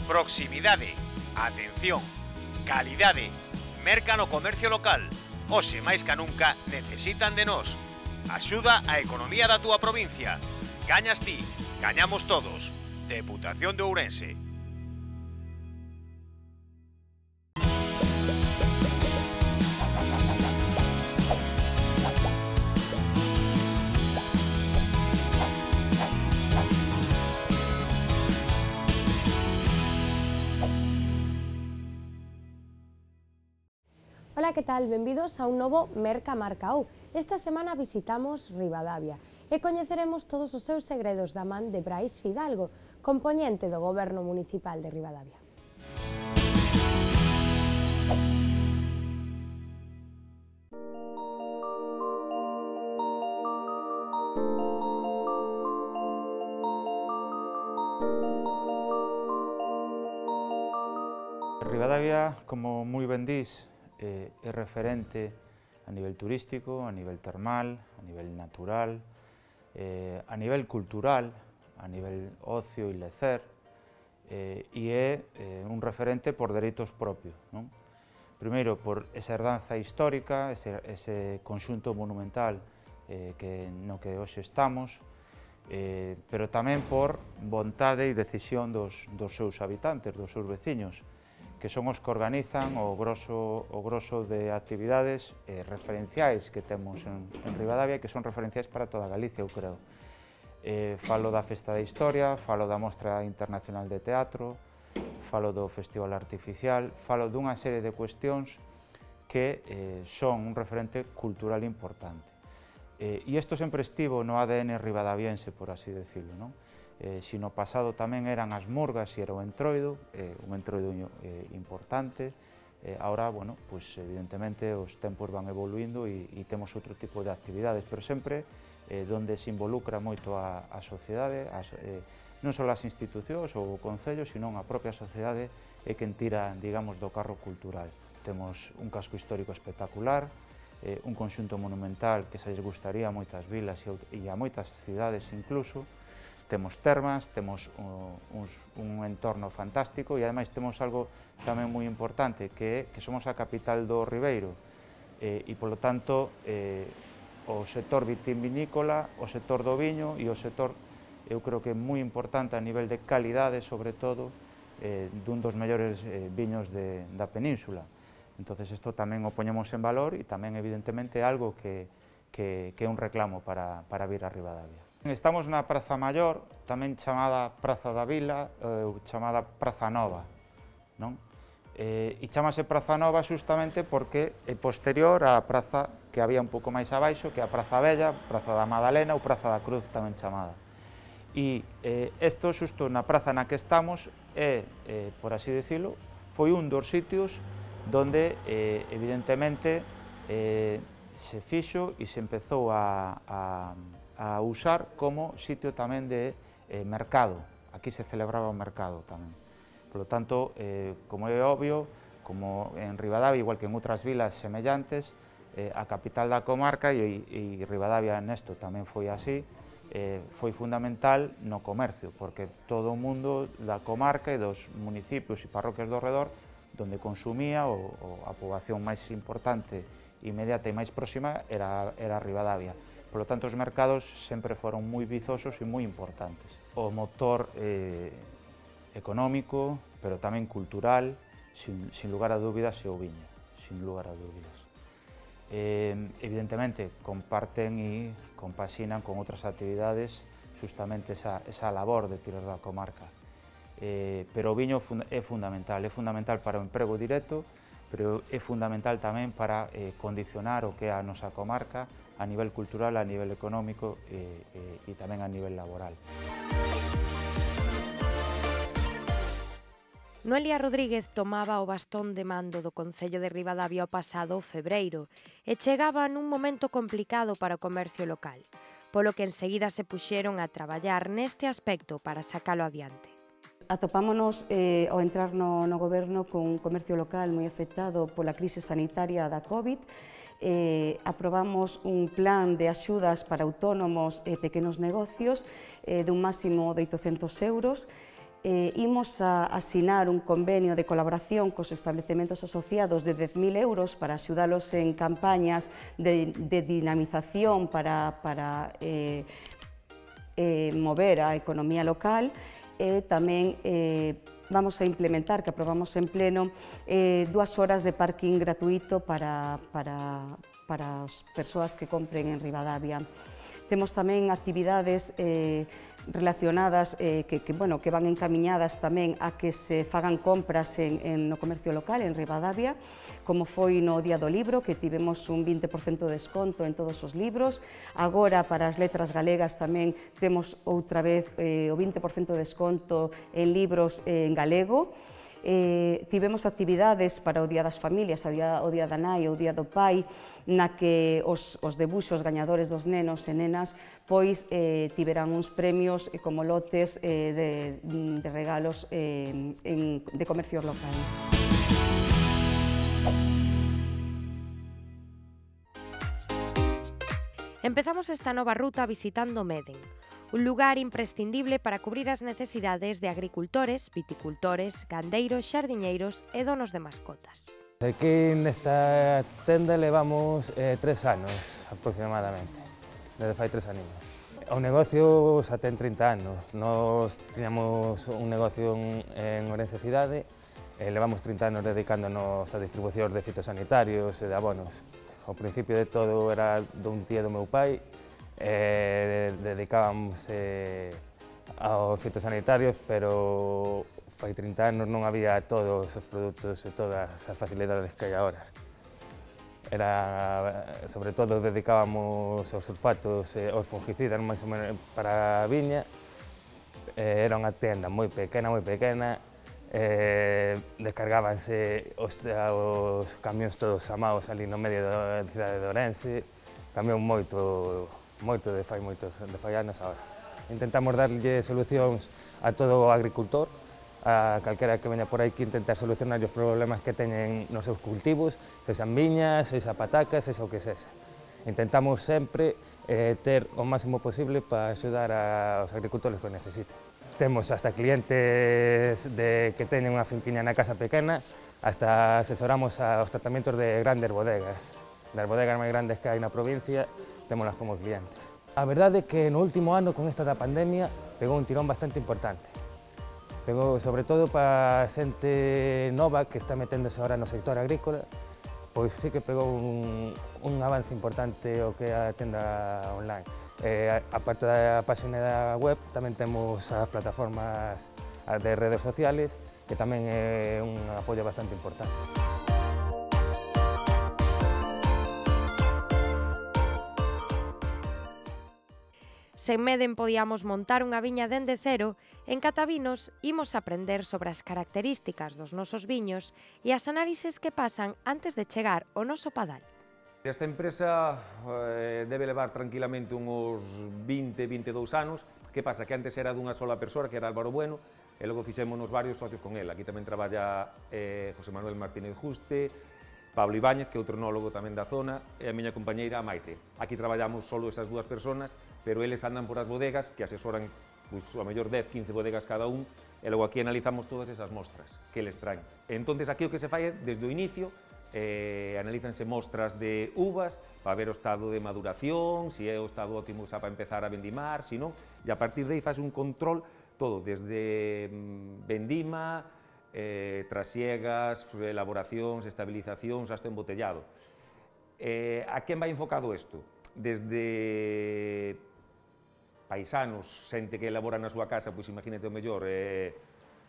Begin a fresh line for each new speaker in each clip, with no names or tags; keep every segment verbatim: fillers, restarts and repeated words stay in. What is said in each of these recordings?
Proximidade, atención, calidade, merca no comercio local. Hoxe máis que nunca necesitan de nós. Axuda á economía da túa provincia. Gañas ti, gañamos todos. Deputación de Ourense.
Ola, que tal? Benvidos a un novo Merca Marcaou. Esta semana visitamos Ribadavia e coñeceremos todos os seus segredos da man de Brais Fidalgo, compoñente do Goberno Municipal de Ribadavia.
Ribadavia, como moi ben dís, é referente a nivel turístico, a nivel termal, a nivel natural, eh, a nivel cultural, a nivel ocio e lecer, eh, e é eh, un referente por dereitos propios, non? Primeiro, por esa herdanza histórica, ese, ese conxunto monumental eh, que, no que hoxe estamos, eh, pero tamén por vontade e decisión dos, dos seus habitantes, dos seus veciños, que son os que organizan o grosso, o grosso de actividades eh, referenciais que temos en, en Ribadavia, que son referenciais para toda Galicia, eu creo. Eh, falo da Festa da Historia, falo da Mostra Internacional de Teatro, falo do Festival Artificial, falo dunha serie de cuestións que eh, son un referente cultural importante. Eh, e isto sempre estivo no A D N ribadaviense, por así decirlo, non? Eh, si no pasado tamén eran as murgas e era o entroido, eh, un entroido eh, importante, eh, ahora, bueno, pues evidentemente os tempos van evoluindo e, e temos outro tipo de actividades, pero sempre eh, donde se involucra moito a, a sociedade, as, eh, non só as institucións ou o concello, sino a propia sociedade é quen tira, digamos, do carro cultural. Temos un casco histórico espectacular, eh, un conxunto monumental que se lles gustaría a moitas vilas e a moitas cidades incluso. Temos termas, temos uh, uns, un entorno fantástico e ademais temos algo tamén moi importante, que é que somos a capital do Ribeiro eh, e, polo tanto, eh, o sector vitivinícola, o sector do viño e o sector, eu creo que é moi importante a nivel de calidade, sobre todo, eh, dun dos mellores eh, viños de, da península. Entonces, isto tamén o poñemos en valor e tamén, evidentemente, é algo que, que, que é un reclamo para, para vir a Ribadavia. Estamos na Praza Maior, tamén chamada Praza da Vila, ou chamada Praza Nova, non? E, e chamase Praza Nova justamente porque é posterior á praza que había un pouco máis abaixo, que é a Praza Vella, Praza da Madalena ou Praza da Cruz tamén chamada. E eh, isto, xusto na praza na que estamos, é, eh, por así decirlo, foi un dos sitios donde, eh, evidentemente, eh, se fixo e se empezou a, a a usar como sitio tamén de eh, mercado. Aquí se celebraba o mercado tamén. Por lo tanto, eh, como é obvio, como en Ribadavia, igual que en outras vilas semellantes, eh, a capital da comarca, e, e Ribadavia nesto tamén foi así, eh, foi fundamental no comercio, porque todo o mundo da comarca e dos municipios e parroquias do redor, donde consumía, o, o a poboación máis importante, inmediata e máis próxima, era, era Ribadavia. Por lo tanto, os mercados sempre foron moi vizosos e moi importantes. O motor eh, económico, pero tamén cultural, sin, sin lugar a dúbidas, é o viño, sin lugar a dúbidas. Eh, evidentemente, comparten e compaxinan con outras actividades justamente esa, esa labor de tirar da comarca. Eh, pero o viño é fundamental, é fundamental para o emprego directo, pero é fundamental tamén para eh, condicionar o que é a nosa comarca a nivel cultural, a nivel económico e, e, e tamén a nivel laboral.
Noelia Rodríguez tomaba o bastón de mando do Concello de Ribadavia o pasado febreiro e chegaba nun momento complicado para o comercio local, polo que enseguida se puxeron a traballar neste aspecto para sacalo adiante.
Atopámonos eh, ao entrar no, no goberno con un comercio local moi afectado pola crise sanitaria da COVID. Eh, aprobamos un plan de axudas para autónomos e pequenos negocios eh, dun máximo de oitocentos euros eh, imos a asinar un convenio de colaboración cos establecementos asociados de dez mil euros para axudalos en campañas de, de dinamización para, para eh, eh, mover a economía local, e tamén eh, vamos a implementar, que aprobamos en pleno, eh, dúas horas de parking gratuito para, para, para as persoas que compren en Ribadavia. Temos tamén actividades eh, relacionadas eh, que, que, bueno, que van encamiñadas tamén a que se fagan compras en, en no comercio local en Ribadavia, como foi no Día do Libro, que tivemos un vinte por cento de desconto en todos os libros. Agora, para as letras galegas, tamén temos outra vez eh, o vinte por cento de desconto en libros eh, en galego. Eh, tivemos actividades para o Día das Familias, o Día, o Día da Nai, o Día do Pai, na que os, os debuxos gañadores dos nenos e nenas pois eh, tiveran uns premios eh, como lotes eh, de, de regalos eh, en, de comercios locais.
Empezamos esta nova ruta visitando Meden, un lugar imprescindible para cubrir as necesidades de agricultores, viticultores, gandeiros, xardiñeiros e donos de mascotas.
Aquí nesta tenda levamos eh, tres anos aproximadamente, desde fai tres aninhos. O negocio xa ten trinta anos, nos tiñamos un negocio en, en Ourense Cidade e levamos trinta anos dedicándonos a distribución de fitosanitarios e de abonos. Ao principio de todo era dun tío do meu pai, e dedicábamos eh, aos fitosanitarios, pero fai trinta anos non había todos os produtos e todas as facilidades que hai agora. Era, sobre todo, dedicábamos aos sulfatos e aos fungicidas máis ou menos para a viña. Era unha tenda moi pequena, moi pequena, eh, descargábanse os, os camións todos amados ali no medio da cidade de Ourense, cambiou moito, moito de fai moitos de fai anos agora. Intentamos darlle solucións a todo o agricultor, a calquera que veña por aí que intentar solucionar os problemas que teñen nos seus cultivos, sexan viñas, sexa patacas, sexa o que sexa. Intentamos sempre eh, ter o máximo posible para axudar aos agricultores que o necesiten. Temos hasta clientes de, que teñen unha finquiña na casa pequena, hasta asesoramos aos tratamientos de grandes bodegas. Das bodegas máis grandes que hai na provincia, témolas como clientes. A verdade é que no último ano, con esta da pandemia, pegou un tirón bastante importante. Pegou, sobre todo para a xente nova que está meténdose ahora no sector agrícola, pois sí que pegou un, un avance importante o que é a tenda online. Eh, a parte da página da web tamén temos as plataformas de redes sociales, que tamén é un apoio bastante importante.
Sen Meden podíamos montar unha viña dende cero, en Catavinos imos aprender sobre as características dos nosos viños e as análises que pasan antes de chegar ao noso padal.
Esta empresa eh, debe levar tranquilamente uns vinte, vinte e dous anos. Que pasa? Que antes era dunha sola persoa, que era Álvaro Bueno, e logo fixémonos varios socios con él. Aquí tamén traballa eh, José Manuel Martínez Juste, Pablo Ibáñez, que é outro enólogo tamén da zona, e a miña compañeira Maite. Aquí traballamos solo esas dúas personas, pero eles andan por as bodegas, que asesoran pues, a mellor dez, quince bodegas cada un, e logo aquí analizamos todas esas mostras que eles traen. Entonces aquí o que se fai é, desde o inicio, eh, analízanse mostras de uvas para ver o estado de maduración, se é o estado óptimo xa para empezar a vendimar, se non, e a partir de aí faz un control todo, desde mm, vendima, eh, trasiegas, elaboracións, estabilizacións, hasta embotellado. Eh, a quen vai enfocado isto? Desde paisanos, xente que elabora na súa casa, pois imagínate o mellor, eh,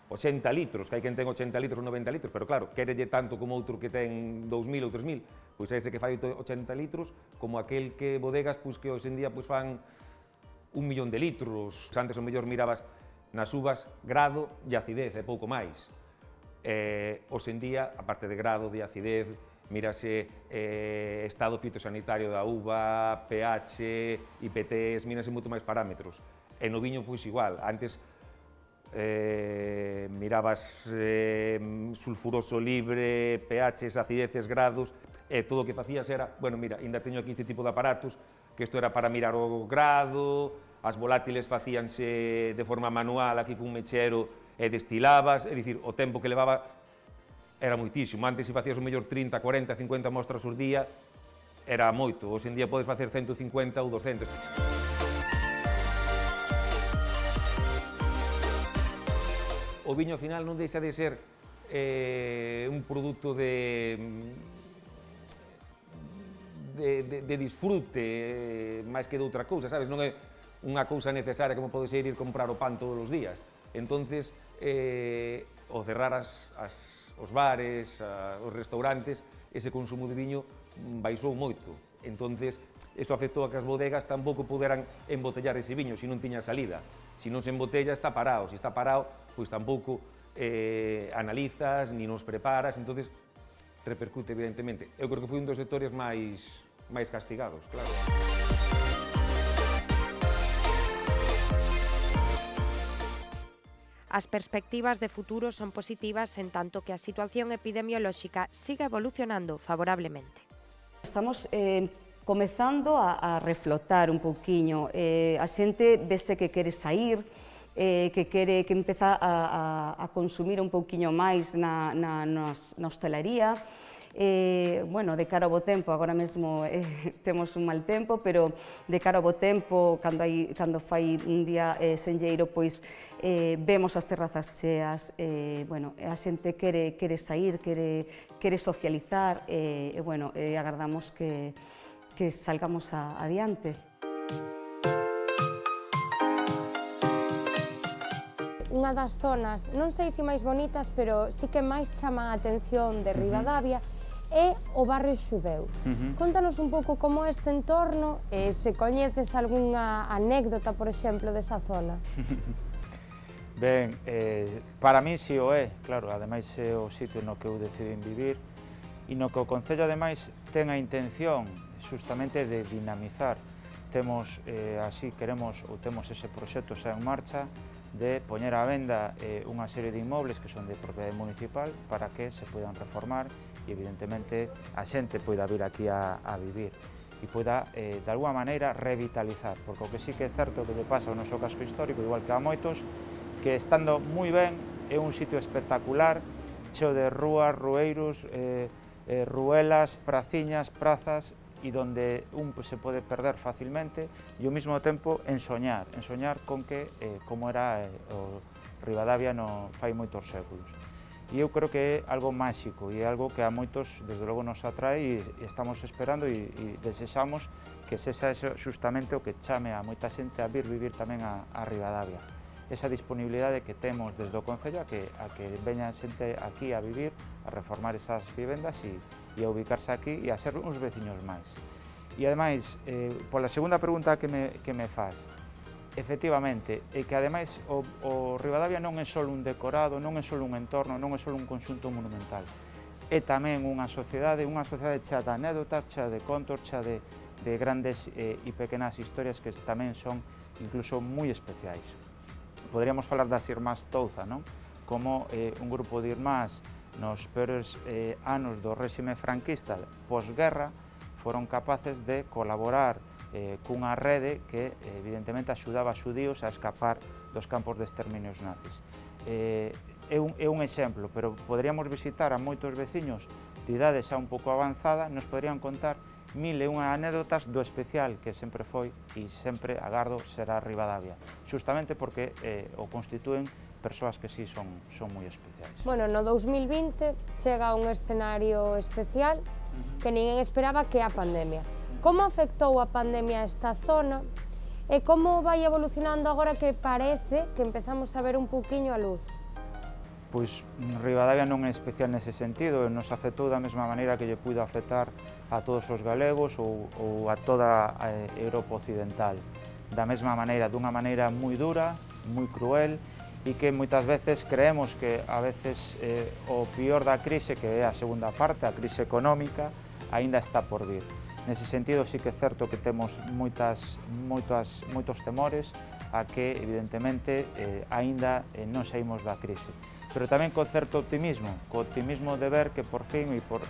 ochenta litros, que hai quen ten ochenta litros ou noventa litros, pero claro, querelle tanto como outro que ten dous mil ou tres mil, pois ese que fai ochenta litros, como aquel que bodegas, pois que hoxe en día pois fan un millón de litros. Antes o mellor mirabas nas uvas grado e acidez, e pouco máis. Eh, hoxe en día, aparte de grado, de acidez, mírase eh, estado fitosanitario da uva, pH, I P Ts, mírase moito máis parámetros. E no viño, pois igual, antes eh, mirabas eh, sulfuroso libre, pHs, acideces, grados, e todo o que facías era, bueno, mira, ainda teño aquí este tipo de aparatos, que isto era para mirar o grado, as volátiles facíanse de forma manual, aquí cun mechero, e destilabas, é dicir, o tempo que levaba era moitísimo. Antes, se facías o mellor trinta, cuarenta, cincuenta mostras por día, era moito. Hoxe en día podes facer ciento cincuenta ou doscientas. O viño, ao final, non deixa de ser eh, un produto de, de, de, de disfrute, eh, máis que de outra cousa, sabes? Non é unha cousa necesaria como pode ser ir comprar o pan todos os días. Entonces, eh, o cerrar as, as, os bares, a, os restaurantes, ese consumo de viño baixou moito. Entonces, eso afectou a que as bodegas tampouco poderan embotellar ese viño se non tiña salida. Se non se embotella, está parado. Se está parado, pois tampouco eh, analizas, ni nos preparas, entonces repercute, evidentemente. Eu creo que foi un dos sectores máis, máis castigados, claro.
As perspectivas de futuro son positivas en tanto que a situación epidemiolóxica siga evolucionando favorablemente.
Estamos eh, comezando a, a reflotar un pouquiño. Eh, a xente vese que quere sair, eh, que quere que empeza a, a, a consumir un pouquiño máis na, na, nas, na hostelería. Eh, bueno, de cara ao bo tempo, agora mesmo eh, temos un mal tempo, pero de cara ao bo tempo, cando, hai, cando fai un día eh, senlleiro, pois eh, vemos as terrazas cheas, eh, bueno, a xente quere, quere sair, quere, quere socializar, eh, e bueno, eh, agardamos que, que salgamos a, adiante.
Unha das zonas, non sei se máis bonitas, pero sí que máis chama a atención de Ribadavia, é o barrio xudeu. Uh-huh. Contanos un pouco como é este entorno e se coñeces algunha anécdota, por exemplo, desa zona.
Ben, eh, para mí si o é, claro, ademais é o sitio no que eu decidín vivir e no que o Concello ademais ten a intención justamente de dinamizar. Temos, eh, así queremos, ou temos ese proxecto xa en marcha, de poñer á venda eh, unha serie de inmobles que son de propiedade municipal para que se poidan reformar e evidentemente a xente poida vir aquí a, a vivir e poida eh, de alguma maneira revitalizar, porque o que sí que é certo que lle pasa ao noso casco histórico, igual que a moitos, que estando moi ben é un sitio espectacular, cheo de rúas, rueiros, eh, eh, ruelas, praciñas, prazas, e donde un se pode perder facilmente e ao mesmo tempo ensoñar, ensoñar con que eh, como era eh, o Ribadavia no fai moitos séculos. E eu creo que é algo máxico e é algo que a moitos desde logo nos atrae e estamos esperando e, e desexamos que sexa eso justamente o que chame a moita xente a vir vivir tamén a, a Ribadavia. Esa disponibilidade que temos desde o Concello a que, a que veña xente aquí a vivir, a reformar esas vivendas e e a ubicarse aquí e a ser uns veciños máis. E ademais, eh, pola segunda pregunta que me, que me faz, efectivamente, é que ademais o, o Ribadavia non é só un decorado, non é só un entorno, non é só un conxunto monumental, é tamén unha sociedade, unha sociedade chea de anécdotas, chea de contos, chea de, de grandes eh, e pequenas historias que tamén son incluso moi especiais. Poderíamos falar das Irmás Touza, non? Como eh, un grupo de irmás nos peores eh, anos do réxime franquista posguerra foron capaces de colaborar eh, cunha rede que evidentemente axudaba a xudíos a escapar dos campos de exterminios nazis. Eh, é, un, é un exemplo, pero poderíamos visitar a moitos veciños de idade xa un pouco avanzada, nos poderían contar mil e unha anécdotas do especial que sempre foi e sempre agardo será Ribadavia, justamente porque eh, o constitúen persoas que sí son, son moi especiais.
Bueno, no dous mil vinte chega un escenario especial que ninguén esperaba, que é a pandemia. Como afectou a pandemia a esta zona e como vai evolucionando agora que parece que empezamos a ver un pouquiño a luz?
Pois Ribadavia non é especial nese sentido, nos afectou da mesma maneira que lle puido afectar a todos os galegos ou, ou a toda a Europa occidental. Da mesma maneira, dunha maneira moi dura, moi cruel, e que moitas veces creemos que a veces eh, o pior da crise, que é a segunda parte, a crise económica, aínda está por vir. Nese sentido, sí que é certo que temos moitas, moitas, moitos temores a que, evidentemente, eh, aínda eh, non saímos da crise. Pero tamén con certo optimismo, co optimismo de ver que por fin e por,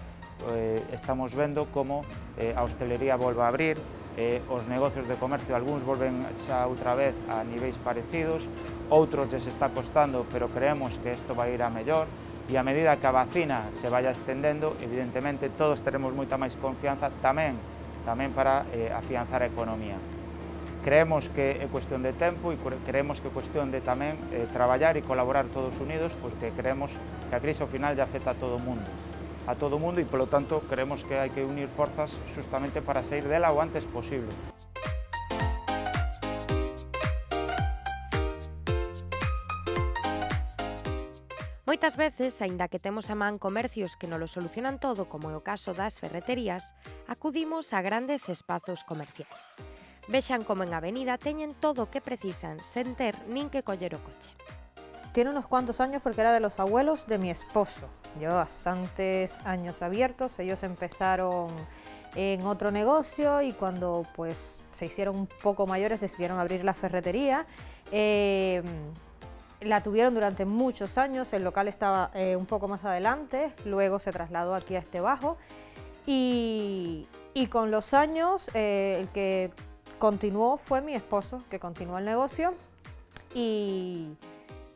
eh, estamos vendo como eh, a hostelería volva a abrir, eh, os negocios de comercio, algúns volven xa outra vez a niveis parecidos, outros les está costando, pero creemos que isto vai ir a mellor, e a medida que a vacina se vaya estendendo, evidentemente todos teremos moita máis confianza tamén, tamén para eh, afianzar a economía. Creemos que é cuestión de tempo e creemos que é cuestión de tamén eh, traballar e colaborar todos unidos, porque creemos que a crise ao final lle afecta a todo o mundo. a todo o mundo e, polo tanto, creemos que hai que unir forzas justamente para sair dela o antes posible.
Moitas veces, aínda que temos a man comercios que nolo solucionan todo, como é o caso das ferreterías, acudimos a grandes espazos comerciais. Vexan como en Avenida teñen todo o que precisan, sen ter nin que coller o coche.
Tiene unos cuantos años porque era de los abuelos de mi esposo. Lleva bastantes años abiertos. Ellos empezaron en otro negocio y cuando pues se hicieron un poco mayores decidieron abrir la ferretería. Eh, la tuvieron durante muchos años. El local estaba eh, un poco más adelante. Luego se trasladó aquí a este bajo. Y, y con los años eh, el que continuó fue mi esposo, que continuó el negocio. Y...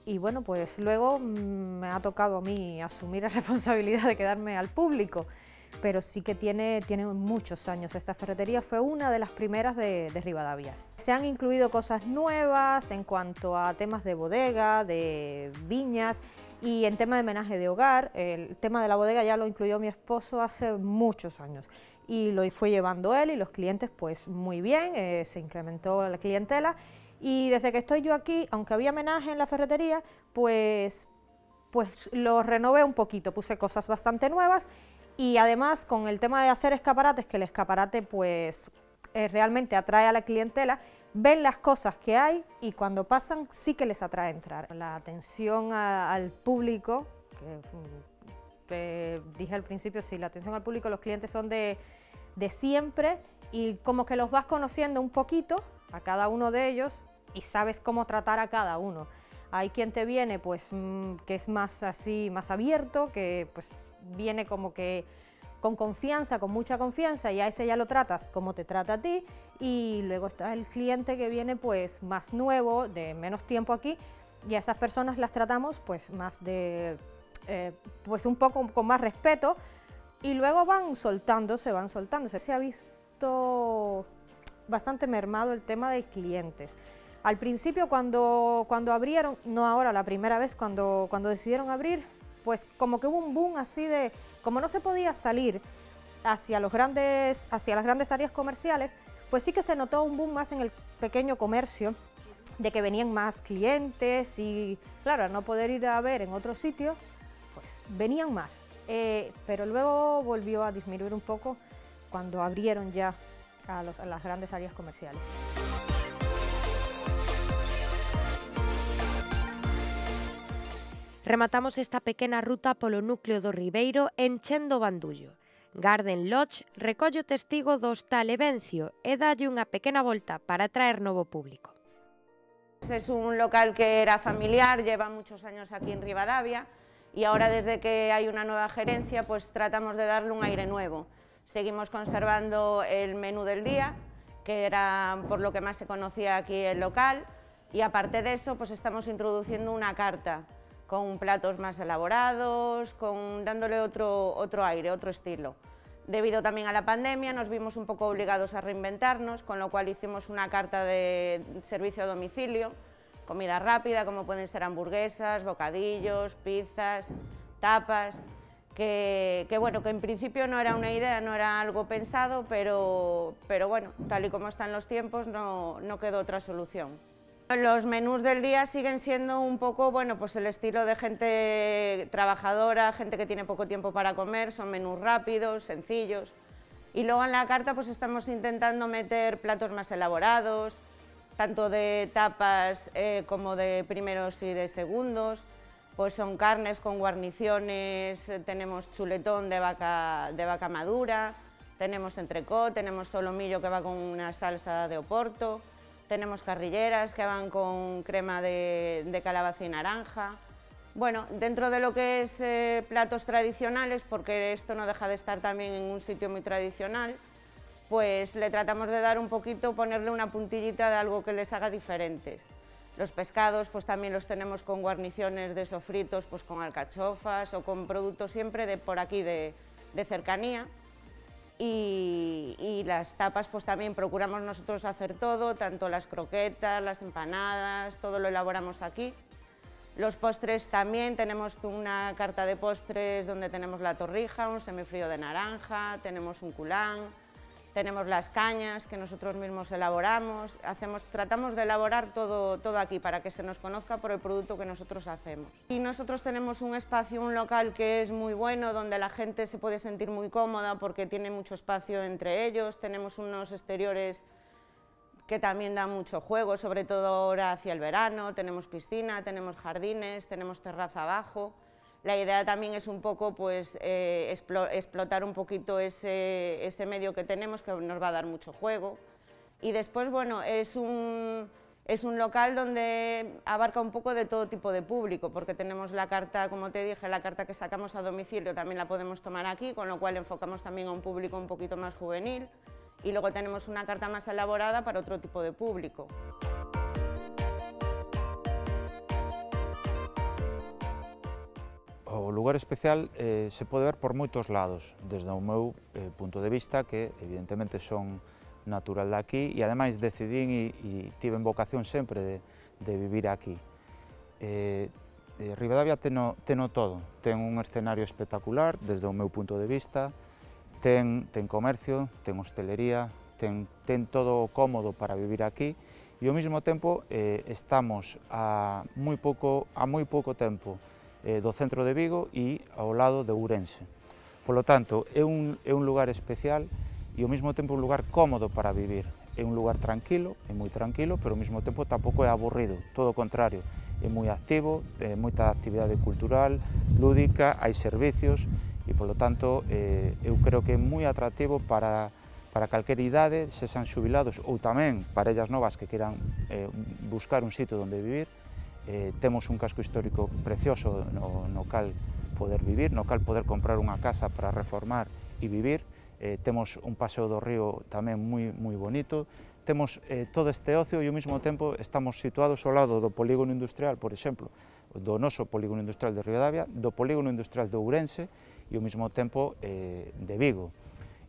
Y bueno, pues luego me ha tocado a mí asumir la responsabilidad de quedarme al público, pero sí que tiene, tiene muchos años. Esta ferretería fue una de las primeras de, de Rivadavia. Se han incluido cosas nuevas en cuanto a temas de bodega, de viñas y en tema de menaje de hogar. El tema de la bodega ya lo incluyó mi esposo hace muchos años y lo fue llevando él y los clientes pues muy bien, eh, se incrementó la clientela. Y desde que estoy yo aquí, aunque había menaje en la ferretería, pues, pues lo renové un poquito, puse cosas bastante nuevas y además con el tema de hacer escaparates, que el escaparate pues eh, realmente atrae a la clientela, ven las cosas que hay y cuando pasan sí que les atrae entrar. La atención a, al público, que eh, dije al principio, sí, la atención al público, los clientes son de, de siempre y como que los vas conociendo un poquito a cada uno de ellos y sabes cómo tratar a cada uno. Hay quien te viene pues que es más así, más abierto, que pues viene como que con confianza, con mucha confianza y a ese ya lo tratas como te trata a ti y luego está el cliente que viene pues más nuevo, de menos tiempo aquí y a esas personas las tratamos pues más de, eh, pues un poco con más respeto y luego van soltándose, van soltándose. Se ha visto bastante mermado el tema de clientes. Al principio cuando, cuando abrieron, no ahora, la primera vez cuando, cuando decidieron abrir, pues como que hubo un boom así de, como no se podía salir hacia, los grandes, hacia las grandes áreas comerciales, pues sí que se notó un boom más en el pequeño comercio, de que venían más clientes y claro, al no poder ir a ver en otro sitio, pues venían más. Eh, pero luego volvió a disminuir un poco cuando abrieron ya a, los, a las grandes áreas comerciales.
Rematamos esta pequena ruta polo núcleo do Ribeiro enchendo o bandullo. Garden Lodge recolle o testigo do hostal Evencio e dalle unha pequena volta para atraer novo público.
Es un local que era familiar, lleva muchos años aquí en Rivadavia y ahora desde que hay una nueva gerencia pues tratamos de darle un aire nuevo. Seguimos conservando el menú del día, que era por lo que más se conocía aquí el local, y aparte de eso pues estamos introduciendo una carta con platos más elaborados, con, dándole otro, otro aire, otro estilo. Debido también a la pandemia nos vimos un poco obligados a reinventarnos, con lo cual hicimos una carta de servicio a domicilio, comida rápida como pueden ser hamburguesas, bocadillos, pizzas, tapas, que, que bueno, que en principio no era una idea, no era algo pensado, pero, pero bueno, tal y como están los tiempos no, no quedó otra solución. Los menús del día siguen siendo un poco, bueno, pues el estilo de gente trabajadora, gente que tiene poco tiempo para comer, son menús rápidos, sencillos. Y luego en la carta pues estamos intentando meter platos más elaborados, tanto de tapas eh, como de primeros y de segundos. Pues son carnes con guarniciones, tenemos chuletón de vaca, de vaca madura, tenemos entrecot, tenemos solomillo que va con una salsa de oporto. Tenemos carrilleras que van con crema de, de calabaza y naranja. Bueno, dentro de lo que es eh, platos tradicionales, porque esto no deja de estar también en un sitio muy tradicional, pues le tratamos de dar un poquito, ponerle una puntillita de algo que les haga diferentes. Los pescados pues también los tenemos con guarniciones de sofritos, pues con alcachofas o con productos siempre de por aquí de, de cercanía. Y, y las tapas pues también procuramos nosotros hacer todo, tanto las croquetas, las empanadas, todo lo elaboramos aquí. Los postres también, tenemos una carta de postres donde tenemos la torrija, un semifrío de naranja, tenemos un culán, tenemos las cañas que nosotros mismos elaboramos, hacemos, tratamos de elaborar todo, todo aquí para que se nos conozca por el producto que nosotros hacemos. Y nosotros tenemos un espacio, un local que es muy bueno, donde la gente se puede sentir muy cómoda porque tiene mucho espacio entre ellos, tenemos unos exteriores que también dan mucho juego, sobre todo ahora hacia el verano, tenemos piscina, tenemos jardines, tenemos terraza abajo. La idea también es un poco pues, eh, explotar un poquito ese, ese medio que tenemos, que nos va a dar mucho juego. Y después, bueno, es un, es un local donde abarca un poco de todo tipo de público, porque tenemos la carta, como te dije, la carta que sacamos a domicilio también la podemos tomar aquí, con lo cual enfocamos también a un público un poquito más juvenil. Y luego tenemos una carta más elaborada para otro tipo de público.
O lugar especial eh, se pode ver por moitos lados, desde o meu eh, punto de vista, que evidentemente son natural de aquí e ademais decidín e, e tiven vocación sempre de, de vivir aquí. Eh, eh, Ribadavia teno, teno todo, ten un escenario espectacular desde o meu punto de vista, ten, ten comercio, ten hostelería, ten, ten todo cómodo para vivir aquí e ao mesmo tempo eh, estamos a moi pouco, a moi pouco tempo eh, do centro de Vigo e ao lado de Ourense. Polo tanto, é un, é un lugar especial e ao mesmo tempo un lugar cómodo para vivir. É un lugar tranquilo, é moi tranquilo, pero ao mesmo tempo tampouco é aburrido, todo o contrario, é moi activo, é moita actividade cultural, lúdica, hai servicios e, polo tanto, eh, eu creo que é moi atractivo para, para calquer idade, se sean xubilados ou tamén parellas novas que queran eh, buscar un sitio onde vivir. Eh, temos un casco histórico precioso no, no cal poder vivir, no cal poder comprar unha casa para reformar e vivir. Eh, temos un paseo do río tamén moi, moi bonito. Temos eh, todo este ocio e ao mesmo tempo estamos situados ao lado do polígono industrial, por exemplo, do noso polígono industrial de Ribadavia, do polígono industrial de Ourense e ao mesmo tempo eh, de Vigo.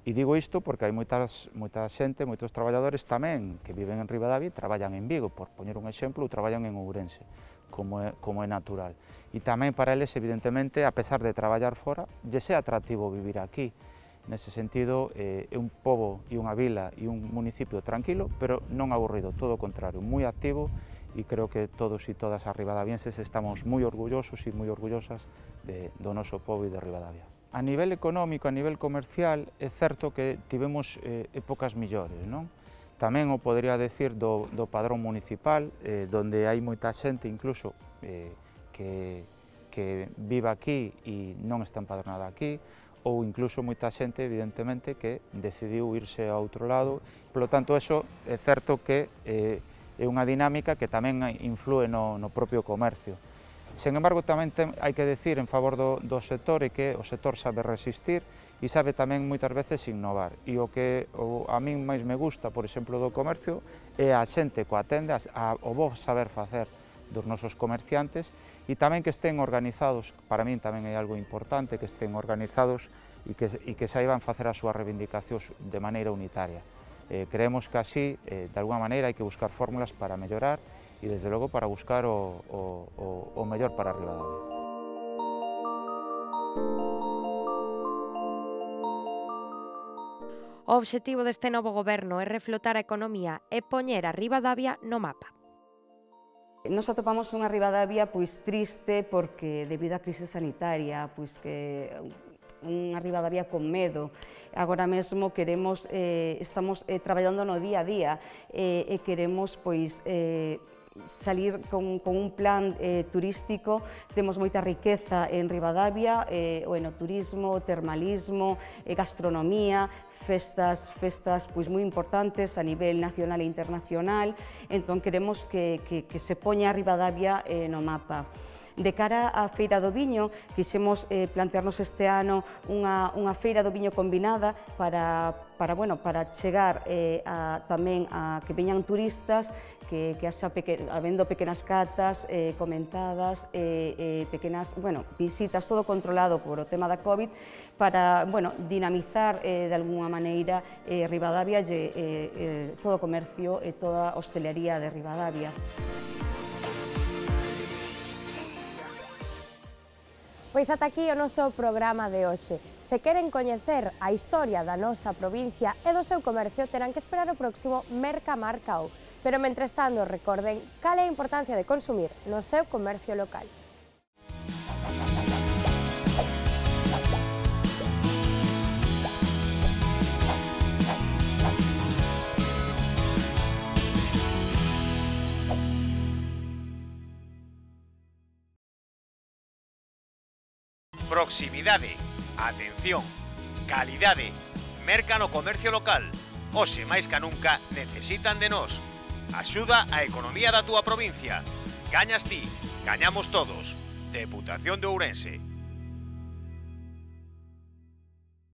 E digo isto porque hai moitas, moita xente, moitos traballadores tamén que viven en Ribadavia e traballan en Vigo, por poñer un exemplo, ou traballan en Ourense, como é, como é natural. E tamén para eles, evidentemente, a pesar de traballar fora, lle é atractivo vivir aquí. Nese sentido, eh, é un pobo e unha vila e un municipio tranquilo, pero non aburrido, todo o contrario, moi activo, e creo que todos e todas as ribadavienses estamos moi orgullosos e moi orgullosas de, do noso pobo e de Ribadavia. A nivel económico, a nivel comercial, é certo que tivemos eh, épocas millores, non? Tamén o podría decir do, do padrón municipal, eh, donde hai moita xente incluso eh, que, que vive aquí e non está empadronada aquí, ou incluso moita xente, evidentemente, que decidiu irse a outro lado. Por lo tanto, eso é certo que eh, é unha dinámica que tamén influe no, no propio comercio. Sen embargo, tamén ten, hai que decir en favor do, do sector é que o sector sabe resistir e sabe tamén moitas veces innovar. E o que o, a min máis me gusta, por exemplo, do comercio é a xente coa tenda, a, o bo saber facer dos nosos comerciantes e tamén que estén organizados, para min tamén é algo importante, que estén organizados e que, e que saiban facer as súas reivindicacións de maneira unitaria. Eh, creemos que así, eh, de alguma maneira, hai que buscar fórmulas para mellorar e, desde logo, para buscar o, o, o, o mellor para Ribadavia.
O obxectivo deste novo goberno é reflotar a economía e poñer a Ribadavia no mapa.
Nos atopamos unha Ribadavia pois triste porque debido á crise sanitaria, pois que unha Ribadavia con medo. Agora mesmo queremos, eh, estamos eh, traballando no día a día eh, e queremos pois eh, salir con, con un plan eh, turístico. Temos moita riqueza en Ribadavia, eh, o enoturismo, o termalismo, eh, gastronomía, festas, festas pois, moi importantes a nivel nacional e internacional. Entón queremos que, que, que se poña a Ribadavia eh, no mapa. De cara á Feira do Viño, quixemos eh, plantearnos este ano unha, unha Feira do Viño combinada para, para, bueno, para chegar eh, a, tamén a que veñan turistas, que, que haxa peque, habendo pequenas catas eh, comentadas, eh, eh, pequenas, bueno, visitas, todo controlado por o tema da COVID, para, bueno, dinamizar eh, de alguna maneira eh, Ribadavia e eh, eh, todo o comercio e toda a hostelería de Ribadavia.
Pois ata aquí o noso programa de hoxe. Se queren coñecer a historia da nosa provincia e do seu comercio, terán que esperar o próximo Mercamarcao. Pero, mentres tanto, recorden cal é a importancia de consumir no seu comercio local.
Proximidade, atención, calidade, merca no comercio local. Hoxe máis ca nunca necesitan de nós. Axuda a economía da túa provincia. Gañas ti, gañamos todos. Deputación de Ourense.